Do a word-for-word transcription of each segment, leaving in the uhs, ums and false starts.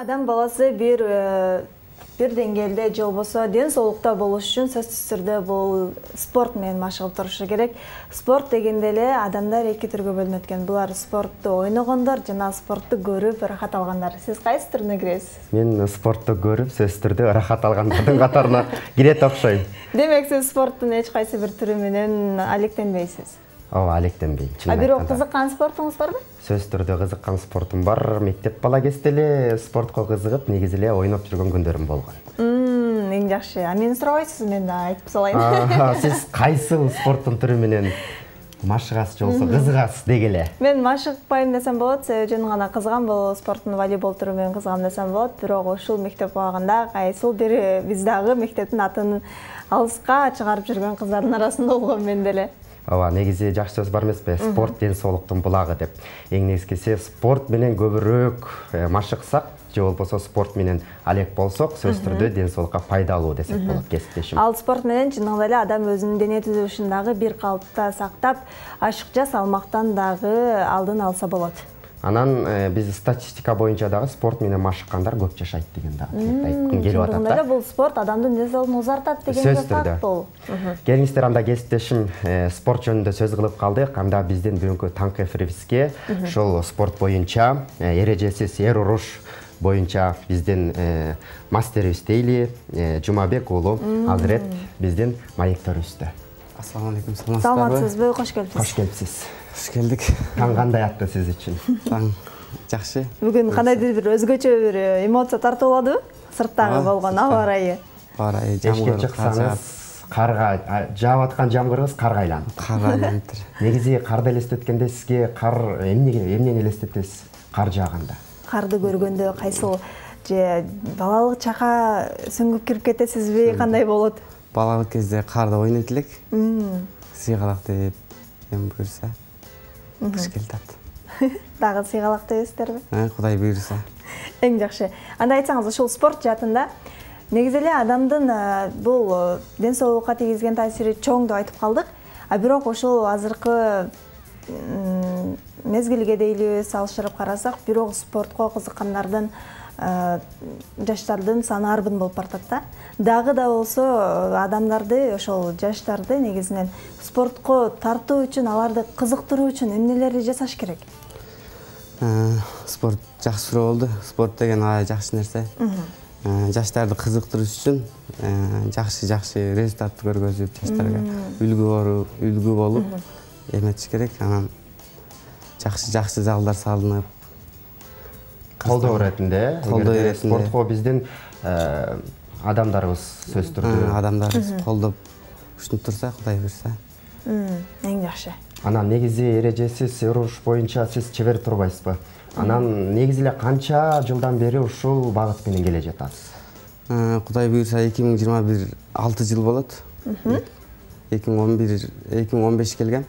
Адам баласы бир бир деңгээлде же болбосо ден соолукта болуш үчүн сөзсүз түрдө бул спорт менен машыгып турушу керек. Спорт дегенде эле адамдар эки түргө бөлүнөт экен. Булар спортту ойногондор жана спортту көрүп ырахат алгандар. Сиз кайсы түрүнө киресиз? Мен спортту көрүп, сөзсүз түрдө ырахат алгандардын катарына кирет окшойм. Демек сиз спорттун эч кайсы бир түрү менен алектенбейсиз? Ооба, алектенбейм. А бирок кызыккан спортуңуз барбы? Сөзсүз түрдө кызыккан спортум бар. Мектеп бала кезде эле спортко кызыгып, негизи эле ойноп жүргөн күндөрүм болгон. Мм, эң жакшы. А мени сурабайсызбы, мен да айтып салайын. Сиз кайсы спорттун түрү менен машыгасыз же болбосо кызыгасыз дегиле? Мен машыгпайм десем болот, себеби жөн гана кызыгам, бул спорттун волейбол түрү менен кызыгам десем болот. Бирок ушул мектеп убагында кайсыл бир биз дагы мектептин атын алыска чыгарып жүргөн кыздардын арасында болгом мен деле. Ооба, негизи жакшы сөз бар эмеспи? Спорт ден соолуктун булагы деп. Эң негизгиси спорт менен көбүрөөк машыксак же болбосо спорт менен алек болсок, сөзсүз түрдө ден соолукка пайдалуу десек болот, кесиптешим. Ал спорт менен чындыгында эле адам өзүнүн дене түзүлүшүн дагы бир калыпта сактап, ашыкча салмактан дагы алдын алса болот. Анан биз статистика боюнча дагы спорт менен машыккандар көп жашайт деген дагы айткым келип атат да. Бул спорт адамдын ден соолугун узартат деген факт бул. Келиңиздер, анда кесиптешим спорт жөнүндө сөз кылып калдык. Анда биздин бүгүнкү таңкы эфирибизге ушул спорт боюнча эрежесиз эр уруш боюнча биздин мастерибиз дейли, Жумабек уулу азырет биздин маектörүбүздө. Ассаламу алейкум, саламатсыздарбы? Саламатсызбы? Кош келипсиз. Кош келипсиз. Кош келдик. Таң кандай атты сиз үчүн? Таң жакшы. Бүгүн кандайдыр бир өзгөчө бир эмоция тартып алабы? Сырттагы болгон аба ырайы. Аба ырайы жамгыр. Эшикке чыксаңыз, карга жаап аткан жамгырыбыз карга айланып. Карга айланып. Негизи карды элестеткенде сизге кар эмнеге, эмнени элестетесиз кар жааганда? Карды көргөндө кайсыл же балалык чакка сүңгүп кирип кетесизби, кандай болот? Балалык кезде карда ойнойт элек. Сыйгалак деп эми буюрса. Кыш келатат. Дагы сыйгалак дебесиздерби? Кудай буюрса. Эң жакшы. Анда айтсаңыз, ушул спорт жаатында негизи эле адамдын бул ден соолукка тийгизген таасири чоң деп айтып калдык. А бирок ошол азыркы мезгилге дейли салыштырып карасак, бирок спортко кызыккандардын жаштардын саны арбын болуп баратат да. Дагы да болсо адамдарды, ошол жаштарды негизинен спортко тартуу үчүн, аларды кызыктыруу үчүн эмнелерди жасаш керек? Спорт жакшы суроо болду. Спорт деген аябай жакшы нерсе. Жаштарды кызыктырыш үчүн жакшы-жакшы результатты көргөзүп, жаштарга үлгү болуп эметиш керек. Анан жакшы-жакшы залдар салынып, колдоо иретинде, колдоо иретинде спортко биздин адамдарыбыз сөзсүз түрдө адамдарыбыз колдоп ушинтип турса, Кудай буйрса. Эң жакшы. Анан негизи эрежесиз эр уруш боюнча сиз чебер турбайсызбы? Анан негизи эле канча жылдан бери ушул багыт менен келе жатасыз? Кудай буйрса эки миң жыйырма бир алты жыл болот. эки миң он бир, эки миң он беш келгем.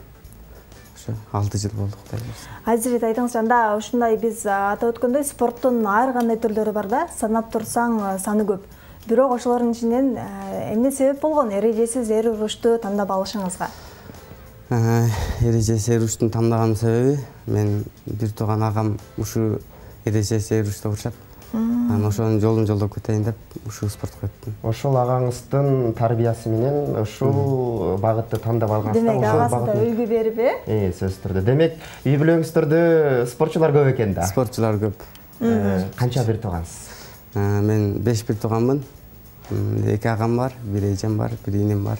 Ошо алты жыл болду, Кудай буйрса. Азыр айтыңызчы, анда ушундай биз атап өткөндөй спорттун ар кандай түрлөрү бар да, санап турсаң саны көп. Бирок ошолордун ичинен эмне себеп болгон эрежесиз эр урушту тандап алышыңызга? Эрежесиз эр урушту тандаган себеби, мен бир тууган агам ушу эрежесиз эр урушта урушат. Анан ошонун жолун жолдоп кетейин деп ушул спортко өттүм. Ошол агаңыздын тарбиясы менен ушул багытты тандап алгансыздар. Демек агасы да үлгү берип, э? Э, сөзсүз түрдө. Демек, үй бүлөңүздөрдө спортчулар көп экен да. Спортчулар көп. Канча бир туугансыз? Мен беш бир тууганмын. эки агам бар, бир эжем бар, бир иним бар.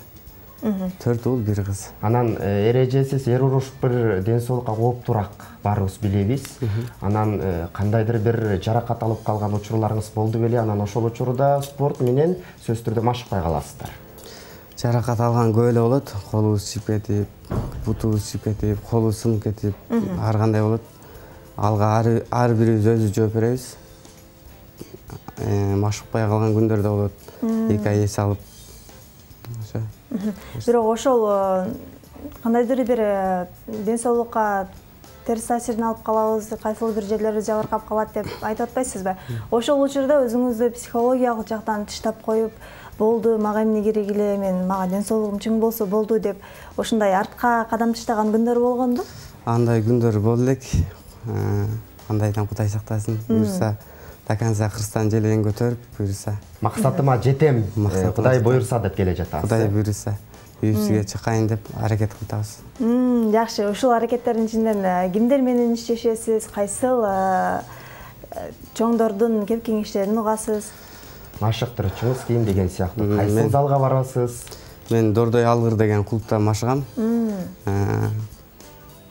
төрт уул, бир кыз. Анан эрежесиз эр уруш бир ден соолукка кооптуураак баарыбыз билебиз. Анан кандайдыр бир жаракат алып калган учурларыңыз болду беле? Анан ошол учурда спорт менен сөзсүз түрдө машыкпай каласыздар. Жаракат алган көп эле болот. Колубуз чип кетип, бутубуз чип кетип, колу сынып кетип, ар кандай болот. Алга ар бирибиз өзүбүз жооп беребиз. Машыкпай калган күндөр да болот. эки ай эс алып. Ошо. Бирок ошол кандайдыр бир ден соолукка терс таасирин алып калабыз, кайсыл бир жерлерибиз жабыркап калат деп айтып атпайсызбы? Ошол учурда өзүңүздү психологиялык жактан тыштап коюп, болду, мага эмне керек эле, мен мага ден соолугум чың болсо болду деп ошондой артка кадам таштаган күндөр болгонду? Андай күндөр болду элек. Кандайдан Кудай сактасын. Буюрса до конца кырстан желегин көтөрүп, буюрса. Максатыма жетем, Кудай буйрса деп келе жатасыз. Кудай буйрса, үйүбүзгө чыкайын деп аракет кылып атабыз. Жакшы, ушул аракеттердин ичинен кимдер менен иштешесиз, кайсыл чоңдордун кеп кеңештерин угасыз? Машыктырчуңуз ким деген сыяктуу. Кайсыл залга барасыз? Мен Дордой Алгыр деген клубда машыгам.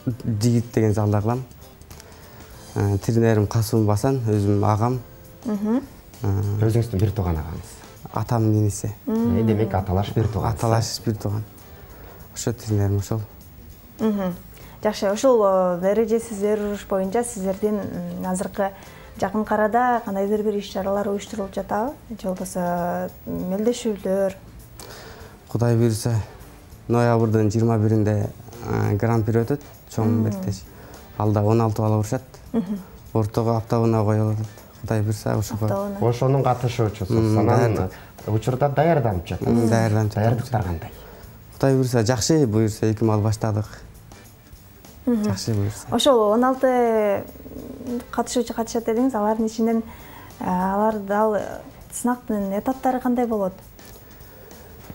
Жигит деген залда кылам. Тренерим Касым Басан, өзүм агам. Өзүңүздүн бир тууган агаңыз. Атамдын иниси. Демек аталаш бир тууган. Аталаш бир тууган. Ошо тренерим ошол. Жакшы, ошол эрежесиз эр уруш боюнча сиздердин азыркы жакын арада кандайдыр бир иш-чаралар уюштурулуп жатабы? Же болбосо мелдешүүлөр? Кудай буйрса, ноябрдын жыйырма биринде гран-при өтөт, чоң мелдеш. Алда он алты бала урушат. Ортого октабына коюлат. Кудай буйрса, ошого. Ошонун катышуучусуз. Анан учурда даярданып жатасыз. Даярданып. Даярдыктар кандай? Кудай буйрса, жакшы буйрса, эки мал баштадык. Жакшы буйрса. Ошол он алты катышуучу катышат дедиңиз, алардын ичинен алар дал сынактын этаптары кандай болот?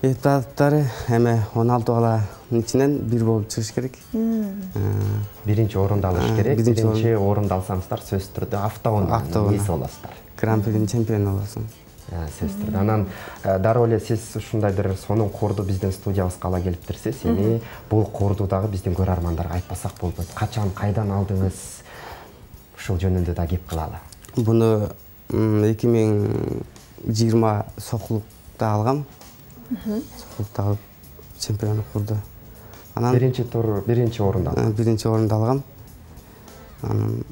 Этаптары эме он алты баланын ичинен бир болуп чыгыш керек. Биринчи орунду алыш керек. Биринчи орунду алсаңыздар сөзсүз түрдө автоунун ээси болосуздар. Гран-принин чемпиону болосуң. Сөзсүз түрдө. Анан дароо эле сиз ушундай бир сонун курду биздин студиябызга ала келиптирсиз. Эми бул курду дагы биздин көрөрмандарга айтпасак болбойт. Качан, кайдан алдыңыз? Ушул жөнүндө да кеп кылалы. Буну эки миң жыйырма Сокулукта алгам. Сокулукта алып чемпион курду. Анан биринчи тур, биринчи орунду алдым. Биринчи орунду алгам. Анан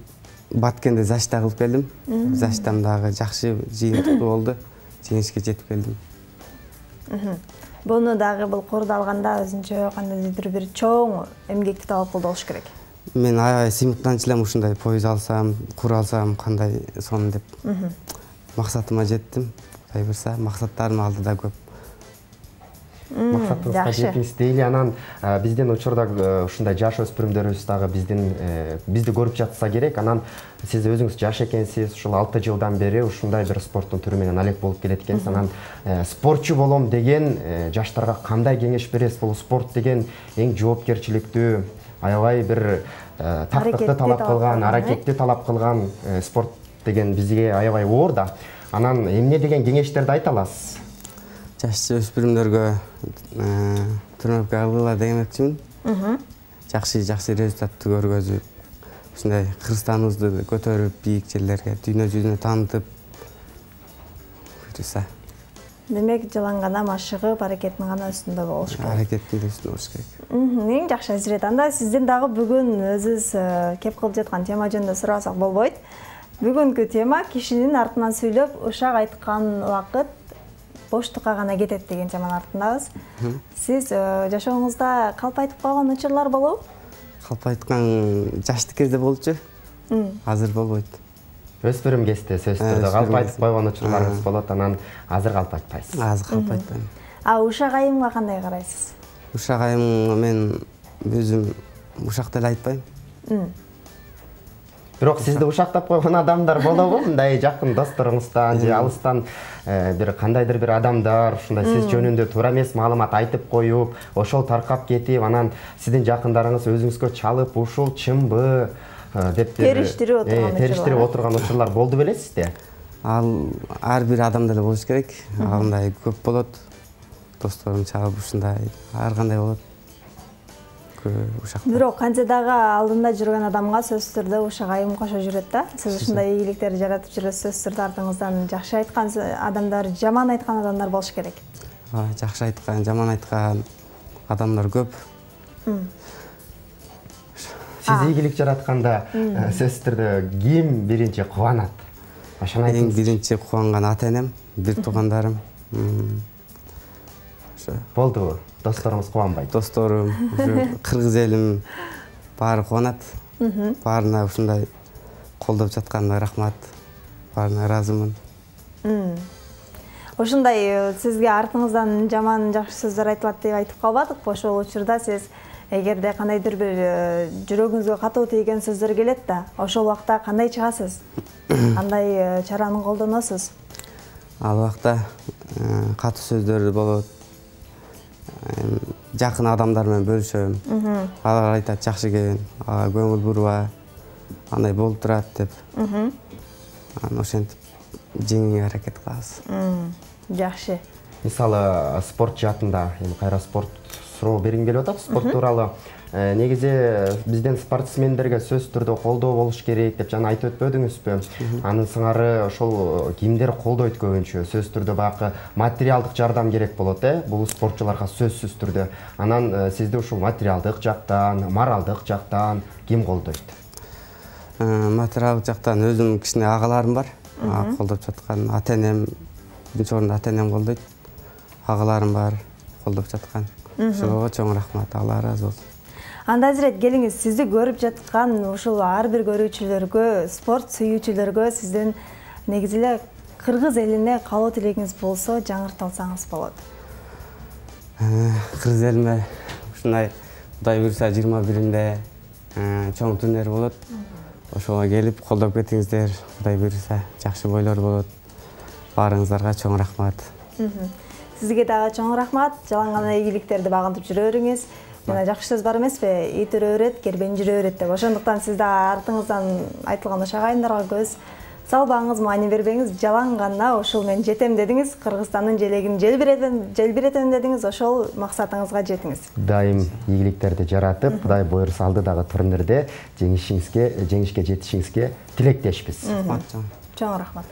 Баткенде защита кылып келдим. Защитам дагы жакшы жыйынтыктуу болду. Жеңишке жетип келдим. Буну дагы бул курду алганда өзүнчө кандайдыр бир чоң эмгекти талап кылды болуш керек. Мен аябай сыймыктанчу элем ушундай поез алсам, кур алсам кандай сонун деп. Максатыма жеттим. Кудай буйрса, максаттарым алдыда көп. Максатыңызга жетиңиз дейли. Анан биздин учурда ушундай жаш өспүрүмдөрүбүз дагы биздин бизди көрүп жатса керек. Анан сиз өзүңүз жаш экенсиз, ушул алты жылдан бери ушундай бир спорттун түрү менен алек болуп келет экенсиз. Анан спортчу болом деген жаштарга кандай кеңеш бересиз? Бул спорт деген эң жоопкерчиликтүү, аябай бир тактыкты талап кылган, аракетти талап кылган спорт деген бизге аябай оор да. Анан эмне деген кеңештерди айта аласыз? Жаш өспүрүмдөргө тренировка кылгыла демекчимин. Жакшы жакшы результатты көргөзүп, ушундай Кыргызстаныбызды көтөрүп, бийик жерлерге, дүйнө жүзүнө таанытып буйрса. Демек, жылан гана машыгып, аракеттин гана үстүндө болуш керек. Аракеттин үстүндө болуш керек. Эң жакшы Азирет. Анда сизден дагы бүгүн өзүбүз кеп кылып жаткан тема жөнүндө сурасак болбойт. Бүгүнкү тема кишинин артынан сүйлөп, ушак айткан убакыт боштукка гана кетет деген теманын артындабыз. Сиз жашооңузда калп айтып калган учурлар болобу? Калп айткан жаштык кезде болчу. Азыр болбойт. Өспүрүм кезде сөзсүз түрдө калп айтып койгон учурларыңыз болот, анан азыр калп айтпайсыз. Азыр калп айтпайм. А ушак айымга кандай карайсыз? Ушак айым мен өзүм ушак деле айтпайм. Бирок сизди ушактап койгон адамдар болобу? Мындай жакын досторуңуздан же алыстан бир кандайдыр бир адамдар ушундай сиз жөнүндө туура эмес маалымат айтып коюп, ошол таркап кетип, анан сиздин жакындарыңыз өзүңүзгө чалып, ушул чынбы деп териштирип отурган териштирип отурган учурлар болду белесизби? Ал ар бир адамда эле болуш керек. Андай көп болот. Досторум чалып ушундай ар кандай болот. Бирок канча дагы алдында жүргөн адамга сөзсүз түрдө ушак айым кошо жүрөт да. Сиз ушундай ийгиликтерди жаратып жүрөсүз, сөзсүз түрдө артыңыздан жакшы айткан адамдар, жаман айткан адамдар болуш керек. Жакшы айткан, жаман айткан адамдар көп. Сиз ийгилик жаратканда сөзсүз түрдө ким биринчи кубанат? Ошону айтыңыз. Эң биринчи кубанган ата-энем, бир туугандарым. Болдубу? Досторуңуз кубанбайт? Досторум, кыргыз элим баары кубанат. Баарына ушундай колдоп жатканына рахмат. Баарына ыраазымын. Ошондой сизге артыңыздан жаман жакшы сөздөр айтылат деп айтып калбадыкпы? Ошол учурда сиз эгерде кандайдыр бир жүрөгүңүзгө катуу тийген сөздөр келет да, ошол убакта кандай чыгасыз? Кандай чараны колдоносуз? Ал убакта катуу сөздөр болот. Жакын адамдар менен бөлүшөм. Алар айтат жакшы экен, ага көңүл бурба, андай болуп турат деп. Анан ошентип жеңүүгө аракет кылабыз. Жакшы. Мисалы спорт жаатында эми кайра спорт суроо бергим келип атат. Спорт тууралуу негизи бизден спортсмендерге сөзсүз түрдө колдоо болуш керек деп жана айтып өтпөдүңүзбү? Анын сыңары ошол кимдер колдойт көбүнчө? Сөзсүз түрдө баягы материалдык жардам керек болот, э? Бул спортчуларга сөзсүз түрдө. Анан сизди ушул материалдык жактан, моралдык жактан ким колдойт? Материалдык жактан өзүмдүн кичине агаларым бар. Колдоп жаткан ата-энем, биринчи орунда ата-энем колдойт. Агаларым бар, колдоп жаткан. Ошого чоң рахмат, Алла ыраазы болсун. Анда азирет келиңиз, сизди көрүп жаткан ушул ар бир көрүүчүлөргө, спорт сүйүүчүлөргө сизден негизи эле кыргыз элине каалоо тилегиңиз болсо жаңырталсаңыз болот. Кыргыз элиме ушундай Кудай буйруса жыйырма биринде чоң турнир болот. Ошого келип колдоп кетиңиздер. Кудай буйруса жакшы бойлор болот. Баарыңыздарга чоң рахмат. Сизге дагы чоң рахмат. Жалаң гана ийгиликтерди багынтып жүрө бериңиз. Жана жакшы сөз бар эмеспи? Ит үрө берет, кербен жүрө берет деп. Ошондуктан сиз да артыңыздан айтылган ошо агайындарга көз салбаңыз, маани бербеңиз. Жалаң гана ушул мен жетем дедиңиз, Кыргызстандын желегин желбиретем, желбиретем дедиңиз, ошол максатыңызга жетиңиз. Дайым ийгиликтерди жаратып, Кудай буйруса алдыдагы турнирде жеңишиңизге, жеңишке жетишиңизге тилектешпиз. Чоң рахмат.